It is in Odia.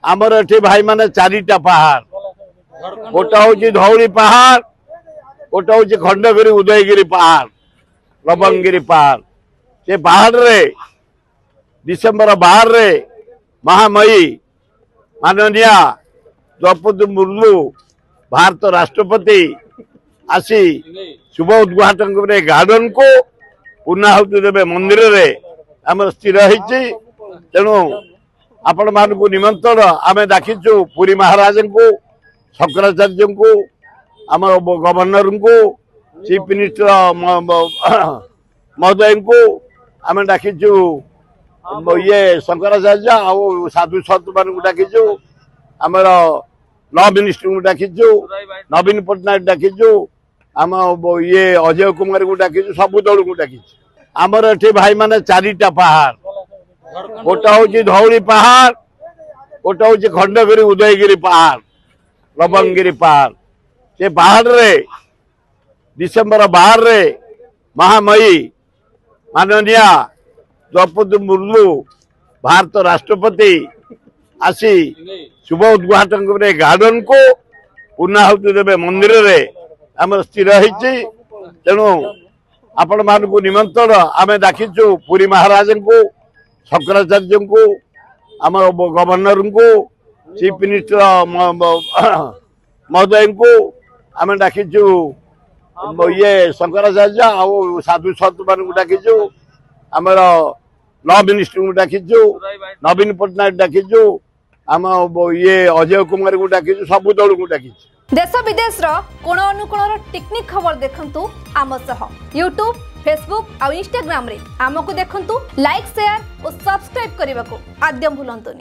ଆମର ଏଠି ଭାଇମାନେ ଚାରିଟା ପାହାଡ଼। ଗୋଟେ ହଉଛି ଧଉଳି ପାହାଡ଼, ଗୋଟେ ହଉଛି ଖଣ୍ଡଗିରି ଉଦୟଗିରି ପାହାଡ଼, ଲବଙ୍ଗଗିରି ପାହାଡ଼। ସେ ପାହାଡ଼ରେ ଡିସେମ୍ବର 12ରେ ମହାମୟୀ ମାନନୀୟା ଦ୍ରୌପଦୀ ମୁର୍ମୁ ଭାରତ ରାଷ୍ଟ୍ରପତି ଆସି ଶୁଭ ଉଦ୍ଘାଟନ କରିବେ। ଗାର୍ଡେନକୁ ପୂର୍ଣ୍ଣାହୁତି ଦେବେ ମନ୍ଦିରରେ, ଆମର ସ୍ଥିର ହେଇଛି। ତେଣୁ ଆପଣମାନଙ୍କୁ ନିମନ୍ତ୍ରଣ, ଆମେ ଡାକିଛୁ ପୁରୀ ମହାରାଜଙ୍କୁ, ଶଙ୍କରାଚାର୍ଯ୍ୟଙ୍କୁ, ଆମର ଗଭର୍ଣ୍ଣରଙ୍କୁ, ଚିଫ ମିନିଷ୍ଟର ମହୋଦୟଙ୍କୁ ଆମେ ଡାକିଛୁ, ଇଏ ଶଙ୍କରାଚାର୍ଯ୍ୟ ଆଉ ସାଧୁ ସନ୍ଥମାନଙ୍କୁ ଡାକିଛୁ, ଆମର ଲ ମିନିଷ୍ଟରଙ୍କୁ ଡାକିଛୁ, ନବୀନ ପଟ୍ଟନାୟକ ଡାକିଛୁ, ଆମ ଇଏ ଅଜୟ କୁମାରଙ୍କୁ ଡାକିଛୁ, ସବୁ ଦଳକୁ ଡାକିଛୁ। ଆମର ଏଠି ଭାଇମାନେ ଚାରିଟା ପାହାଡ଼। ଗୋଟେ ହଉଛି ଧଉଳି ପାହାଡ଼, ଗୋଟେ ହଉଛି ଖଣ୍ଡଗିରି ଉଦୟଗିରି ପାହାଡ଼, ଲବଙ୍ଗଗିରି ପାହାଡ଼। ସେ ପାହାଡ଼ରେ ଡିସେମ୍ବର 12ରେ ମହାମୟୀ ମାନନୀୟା ଦ୍ରୌପଦୀ ମୁର୍ମୁ ଭାରତ ରାଷ୍ଟ୍ରପତି ଆସି ଶୁଭ ଉଦ୍ଘାଟନ କରିବେ। ଗାର୍ଡେନକୁ ପୂର୍ଣ୍ଣାହୁତି ଦେବେ ମନ୍ଦିରରେ, ଆମର ସ୍ଥିର ହେଇଛି। ତେଣୁ ଆପଣମାନଙ୍କୁ ନିମନ୍ତ୍ରଣ, ଆମେ ଡାକିଛୁ ପୁରୀ ମହାରାଜଙ୍କୁ, ଶଙ୍କରାଚାର୍ଯ୍ୟଙ୍କୁ, ଆମର ଗଭର୍ଣ୍ଣରଙ୍କୁ, ଚିଫ ମିନିଷ୍ଟର ମହୋଦୟଙ୍କୁ ଆମେ ଡାକିଛୁ, ଇଏ ଶଙ୍କରାଚାର୍ଯ୍ୟ ଆଉ ସାଧୁ ସନ୍ଥମାନଙ୍କୁ ଡାକିଛୁ, ଆମର ଲ ମିନିଷ୍ଟରଙ୍କୁ ଡାକିଛୁ, ନବୀନ ପଟ୍ଟନାୟକ ଡାକିଛୁ, ଆମ ଇଏ ଅଜୟ କୁମାରଙ୍କୁ ଡାକିଛୁ, ସବୁ ଦଳକୁ ଡାକିଛୁ। ଦେଶ ବିଦେଶର କୋଣ ଅନୁକୋଣର ଟିକ୍ନିକ୍ ଖବର ଦେଖନ୍ତୁ ଆମ ସହ ୟୁଟ୍ୟୁବ୍, ଫେସବୁକ୍ ଆଉ ଇନଷ୍ଟାଗ୍ରାମରେ ଆମକୁ ଦେଖନ୍ତୁ। ଲାଇକ୍, ସେୟାର ଓ ସବସ୍କ୍ରାଇବ୍ କରିବାକୁ ଆଦ୍ୟ ଭୁଲନ୍ତୁନି।